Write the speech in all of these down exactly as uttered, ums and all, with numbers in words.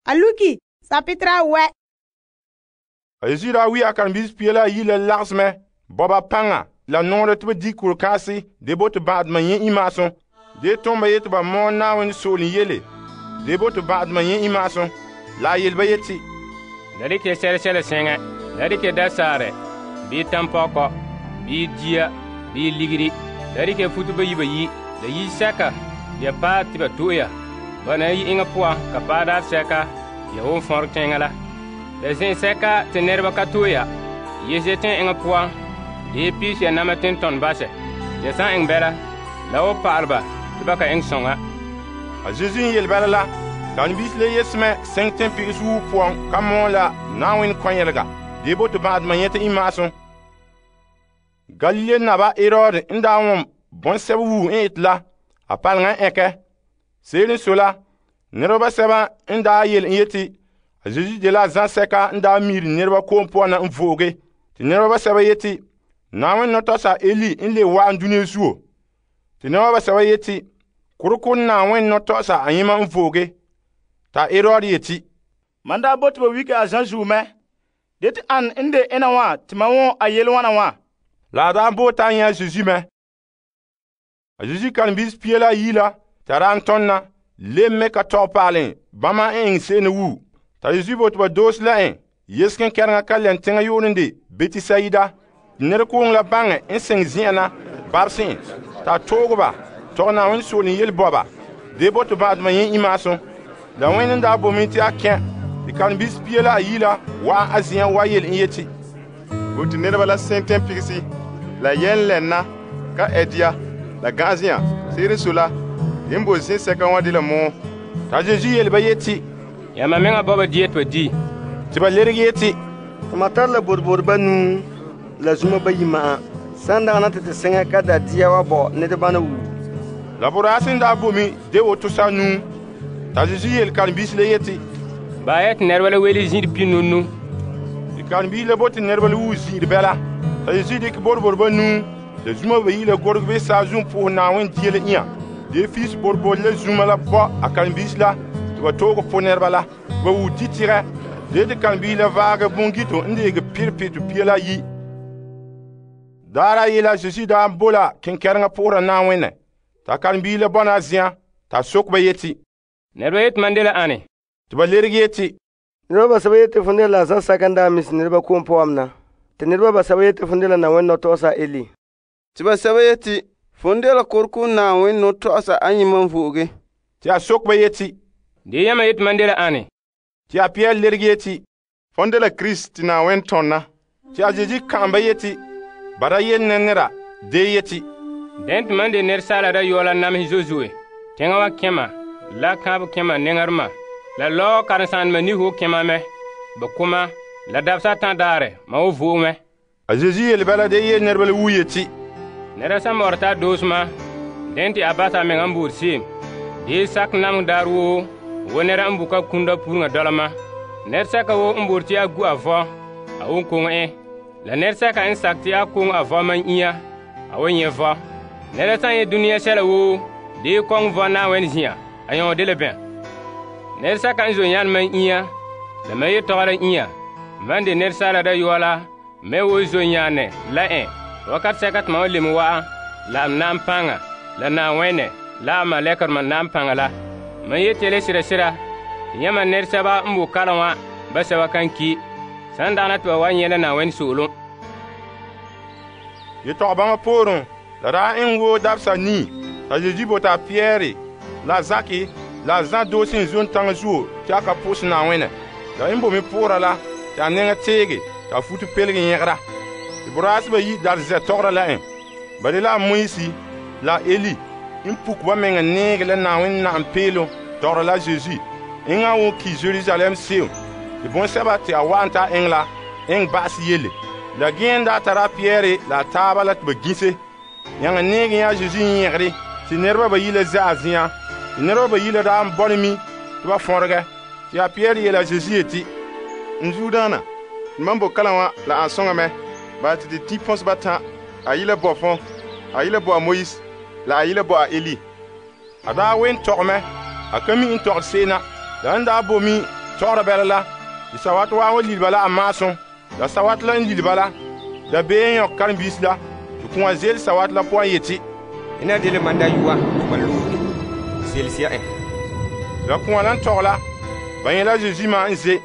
a luki sapetera wɛ. A Yesu daa wi a karen-biisi pia la ayi la lagesmɛ bɔba paŋa la nɔɔrɛ te ba di kurikaasi de bo te ba'adoma nyɛ imaasum. De tom ba yete ba mɔɔ Na'ayenɛ soolom yele de bo te ba'adoma nyɛ imaasum. La a yele ba yeti, la dikɛ sɛlesɛle sɛŋa, la dikɛ dasaarɛ, bii tampɔkɔ, bii dia, bii ligiri, la dikɛ futo bayi bayi, la yisɛka ya paɛ te ba to'e ya. Ba na yi eŋa poan ka paɛ daarɛ sɛka ya won fɔrɛ teŋa la. La zen'sɛka te nɛreba ka to'e ya, ye zetɛn eŋa poan, de piis ya nama tentɔn basɛ. Ya san eŋɛ bɛla, la wan pa'alɛ ba te ba ka eŋɛ soŋa. A Zesu n yele bala la, karen-biisi la yesmɛ seŋ teŋpigisi wuhu poan ka mɔɔ la Na'ayenɛ kɔnyelega de bo te ba'adoma nyɛta imaasum. Galilee naba Herod n daa wom bɔŋsɛba wuhu n ete la, a paleŋa n ɛnkɛ. Se'ere n sɔe la, nɛreba basɛba n daa yele n yeti a Zesu de la zãsɛka n daa miiri nɛreba ko'om poan na n vo'oge. Te nɛreba basɛba yeti Na'ayenɛ nɔtɔgɔsa Eli n le wa'an dunia zuo. Te nɛreba basɛba yeti kureko Na'ayenɛ nɔtɔgɔsa ayema n vo'oge. Ta Herod yeti, man daa bote ba wike a zãn zuo mɛ. De te an n de ena wã te ma wõ a yele wãna wã. La a daa bo ta nyɛ a Zesu mɛ. A Zesu karen-biisi pia la ayi la te a daa n tɔn na lem me ka tɔgɛ paale bãmba n eŋɛ se'em wu. Ta Yesu bote ba doose la en yesken kɛreŋa ka lɛn teŋa yoore de Betisayida. Nɛrekooŋɔ la baŋɛ n seŋ zen'an na babse en. Ta tooge ba tɔgɛ Na'ayenɛ soolom yele bɔba de bo te ba'adoma nyɛ imaasum. La wẽn n daa bomi te a kẽ te karen-biisi pia la ayi la wa'an a zen'an wa yele n yeti, bote nɛreba la seŋ tɛmpigisi la yɛn lɛnna ka ɛdia la gã'azia. Se'ere n sɔe la, yen bo zẽsɛka wã de la mɔɔ. Ta Zesu yele ba yeti, yãmba meŋa bɔ ba dia te ba di. Te ba lerege yeti, Tama tare la bodbod banuu la zuma bayi ma'an. San dagana te te seŋa ka da dia wa bɔ nɛrebana wu. La boraase n daa bomi de woto sanuu. Ta Zesu yele karen-biisi la yeti, Ba ya te nɛreba la wele zĩiri pinunu. Te karen-biisi la bo te nɛreba la wuhu zĩiri bɛla. Ta Yesu dikɛ bodbod banuu la zuma bayi la gorege be saazuun po'ohɛ Na'ayenɛ dia la inya. De fiis bodbod la zuma la bɔ a karen-biisi la te ba tooge po nɛreba la. Ba wuhu ditigɛ. De te karen-biisi la vaagɛ bongito n deege pirpitu pia la ayi. Daara ayi la Zesu daa bo la kenkɛreŋa pʋgera Na'ayenɛ. Ta karen-biisi la bɔna a zen'an t'a sok ba yeti, Nɛreba yeti man de la ane? te ba lerege yeti, Nɛreba basɛba yeti fo de la zãsɛka n daa misi nɛreba ko'om poan na. Te nɛreba basɛba yeti fo de la Na'ayenɛ nɔtɔgɔsa Eli. Te basɛba yeti fo de la kureko Na'ayenɛ nɔtɔgɔsa ayema n vo'oge. te a sok ba yeti, De yãmba yeti man de la ane? te a pia lerege yeti, Fõn de la Kirist te Na'ayenɛ tɔnna. te a Zesu kã'am ba yeti, bara yel ne nera de yeti, Dẽn tɩ man de nɛresaala dayɔɔ la namesɛ zozoe. Tẽŋa wa kẽma, la kãab kẽma nẽŋarema, la lɔɔ karen-sãandema niho kẽma mɛ. Ba kʋma, la dabsa tã daarɛ, ma wo vo'o mɛ. a Zesu yele bala de yel nɛreba la wu yeti, Nɛra sã n bɔre t'a doosema, dẽn tɩ a basa a meŋa n boor seem. Dee sak nameng daar woo, wo nɛra n buka kũnda pureŋa dɔlema. Nɛresɛka wo n boor tɩ a gu a vɔ, a won koŋe ẽ. La nɛresɛka n sak tɩ a koŋe a vɔ man inya, a won nyɛ vɔ. Nɛra sã n yẽ dũniyã sɛla woo, dee kɔŋ vɔ Na'ayenɛ zĩ'ã, a yõ de la bẽ. Nɛresɛka n zo yãn man inya, la ma yetɔgera inya, man de nɛresaala dayɔɔ la, me wo zo yãane la ẽ. Wakat sɛka tɩ ma wa lem wa'an, la m na n pãnga, la Na'ayenɛ, la a malɛkdema na n pãnga la. Ma yet yele sɩda-sɩda, tɩ yãmba nɛresɛba n bo kalam wã basɛba kan ki, sãn dagana tɩ ba wa yẽ la Na'ayenɛ soolem. yetɔgɔ bãmba poorẽ la daa iŋ woo dabsa nii. Ta Zesu bota a Pɩyɛɛre la Zake la Zã doosi n zon taŋa zuo tɩ a ka pʋʋsɛ Na'ayenɛ. La n bomi pʋʋra la tɩ a nɛŋa teege t'a futu pelge yẽgra. Tɩ boraase bayi dar zɛ tɔgera la ẽ. Ba de la a Moise la Eli n puk ba meŋa neege la Na'ayenɛ na'am peelem tɔgera la Zesu. Eŋa won ki Jerusalem seem. Tɩ bõn-sɛba tɩ a wa'an t'a eŋɛ la eŋ ba'as yelle. La gẽen daa tara a Pɩyɛɛre la a taaba la tɩ ba gĩse. Yãnga neege yã Zesu yẽgre tɩ nɛreba bayi la zã a zĩyã. Tɩ nɛreba bayi la daa n bɔne mi tɩ ba fõrgɛ. Tɩ a Pɩyɛɛre yeela Zesu yeti, N zuudaana, n man bo kalam wã la an sõŋa mɛ. Bala tɩ tɩ tĩ pɔs batã, a yi la bɔ fõ, a yi la bɔ a Moise, la a yi la bɔ a Eli. A daa wen tɔgmɛ, a ka mi n tɔgd seena. La n daa bomi tɔgɔra bɛla la, te sawat waa wa lilba la a maasum. La sawat la n lilba la, da bee n yɔk karen-biisi la, te kũa ze'ele sawat la poan yeti, ina dele man da yuwa te man lo'e. Zelsiya en. La kũa la n tɔgɛ la, ba nyɛ la Zeezi ma n ze.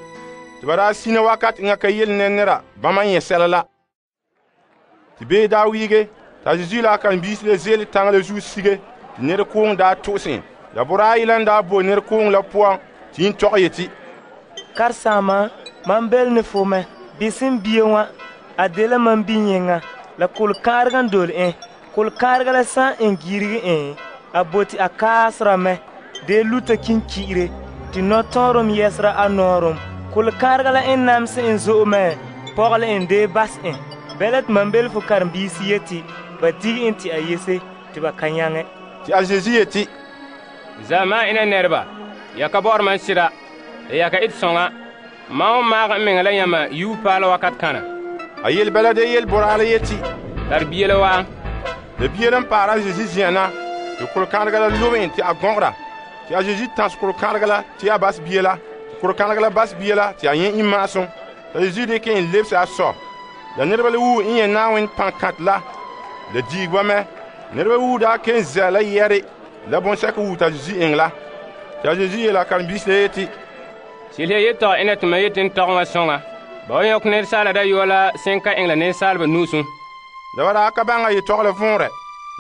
Te ba daa sina wakat enŋa ka yele ne nɛra bãmba n nyɛ sɛla la. Te bee daa wiige, t'a Zeezi la a karen-biisi la ze'ele taŋa la zuo sige, te nɛrekooŋɔ daa to'ose en. La boraayi la n daa bo nɛrekooŋɔ la poan te yin tɔgɛ yeti, Karesaama, mam bele ne fo mɛ. Bisim bie wã, a dela mam bi-yẽŋa, la kol-kãarega n dole en. Kol-kãarega la sã n en girigi en, a bote a kaasera mɛ, dee luta kinki'ire, te nɔtɔɔrem yɛsera a nɔɔrem. Kol-kãarega la en namse en zo'e mɛ, pɔgɔle en dee bas en. Bɛla te mam bele fo karen-biisi yeti, ba dige en te a yese, te ba ka nyaŋɛ. Te a Zeezi yeti, Zama ina nɛreba, ya ka bɔ'ɔra mam sira, la ya ka ete sõŋa. Mam n maag n meŋa la yãmba yuu paala wakat kana. A yel bɛla de yel boraa la yeti, Tare bie la wa. la bie la n paara a Zeezi zen'an na, te kol-kãanega la lobe en te a gɔgera. Te a Zeezi tãs kol-kãanega la te a bas bie la. Te kol-kãanega la bas bie la te a yẽ imaasum. T'a Zeezi dɩkɛ en lebse a sɔ. La nɛreba la wuu n yẽ Naaween pãn-kãt la, la diig ba mɛ. Nɛreba wuu daa ken zɛ la yɛre la bõn-sɛka wuu t'a Zeezi eŋɛ la. Te a Zeezi yeela a karen-biisi la yeti, Silya yetɔgɔ ina tɩ mam yeti n tɔgɛ wã sõŋa. Ba wa yõk nɛresaala dayɔa la sẽn ka eŋɛ la nensaalba nuusum. La ba daa ka baŋa yetɔgɔ la võorɛ.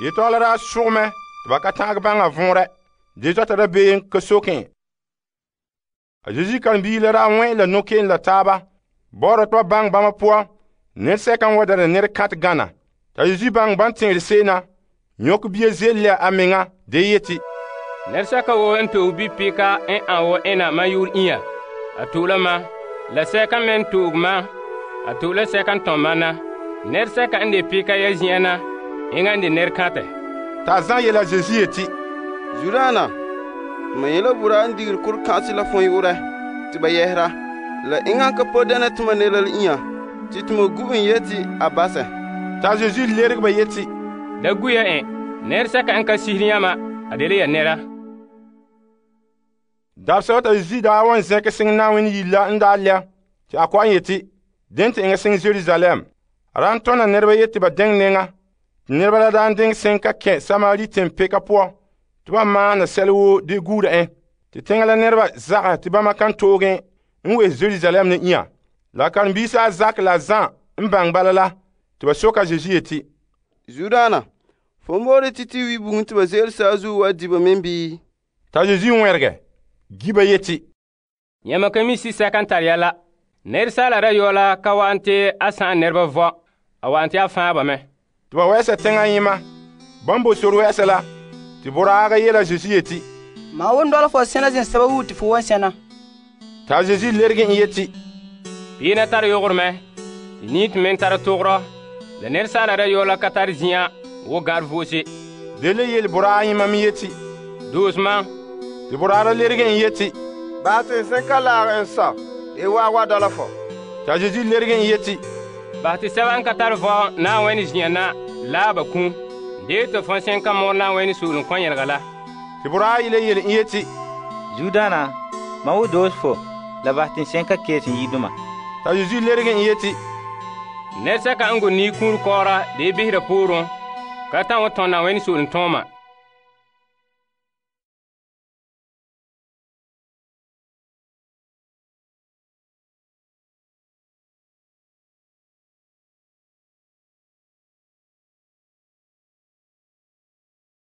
Yetɔgɔ la daa sʋgmɛ tɩ ba ka ta'ãg baŋa võorɛ. De tɔta da beem ka soke. A Zeezi karen-biisi la daa wẽ la no-keen la taaba, bɔɔra tɩ ba baŋ bãmba poan, nɛresɛka n wa dɛna nɛrekãt gana. T'a Zeezi baŋ ban tẽere se'em na, yõk bia ze'ele a meŋa de yeti, Nɛresɛka woo n toog bi-pɩka n ãn wo ẽna mam yʋʋr ĩyã. A to'o la ma, la sɛka me n toog ma, a to'o la sɛka n tõm ma na. Nɛresɛka n de pɩka ya zin'an na, enŋa n de nɛrekãtɛ. T'a zã yela a Zeezi yeti, Zudaana, mam yẽ la buraa n digiri kor-kãnse la fõ yʋʋrɛ tɩ ba yɛsera. La enŋa n ka po dɛna tɩ ma ne la ĩyã, tɩ tɩ ma gu n yeti a basɛ. t'a Zeezi lerg ba yeti, Da gu ya ẽ, nɛresɛka n ka sisiri yãma, a de la ya nɛra. Dabsɛ t'a Zeezi daa wan zẽk sẽn Naaween yire la n daa lɛ, tɩ a kɔ'ɔn yeti, dẽn tɩ eŋɛ sẽn Jerusalem. A daa n tõna nɛreba yeti ba dẽng nɛŋa, tɩ nɛreba la daa n dẽng sẽn ka kẽ Samari tẽn-peka poan, tɩ ba maana sɛl woo de guura ẽ. Tɩ teŋa la nɛreba zagɛ tɩ bãmba kan toogẽ n wes Jerusalem ne ĩyã. La karen-biisi a Zak la Zã n baŋ bala la, tɩ ba soka a Zeezi yeti, Zudaana, fo moore tɩ tɩ wi bugum tɩ ba ze'ele saazuo wa di ba mem bii? T'a Zeezi wẽrgɛ, gi ba yeti, Yãmba ka mi si-sɛka n tar ya la. Nɛresaala dayɔa la ka wa'an tɩ a sãn nɛreba vɔ, a wa'an tɩ a fãa ba mɛ. tɩ ba wɛɛsa tẽngã yẽma. Bãmb bo sor wɛɛsa la, tɩ boraaga yeela a Zeezi yeti, Ma wun dɔla fo sẽna zẽsɛba wuu tɩ fo wan sẽna. t'a Zeezi lerg n yeti, Piinã tar yogr mɛ, tɩ niit me n tar togrɔ, la nɛresaala dayɔa la ka tar zĩyã wo gãad voose. de le yel boraa yẽma me yeti, Doosmã, tɩ boraa la lerg n yeti, baa tɩ sẽn ka laag n sɔ dee waa wa dɔla fo. t'a Zeezi lerg n yeti, bas tɩ sɛba n ka tar vɔ Naawẽn zĩyã na la a ba kũ, dee tɩ fõ sẽn ka mor Naawẽn soolem kõ-yẽlga la. tɩ boraa yɩla yel n yeti, Zudaana, ma wo doos fo, la bas tɩ sẽn ka kees n yiduma. t'a Zeezi lerg n yeti, Nɛresɛka n go nii kũur kɔɔra dee bisera poorẽ, ka tã wa tõnd Naawẽn soolem tõoma.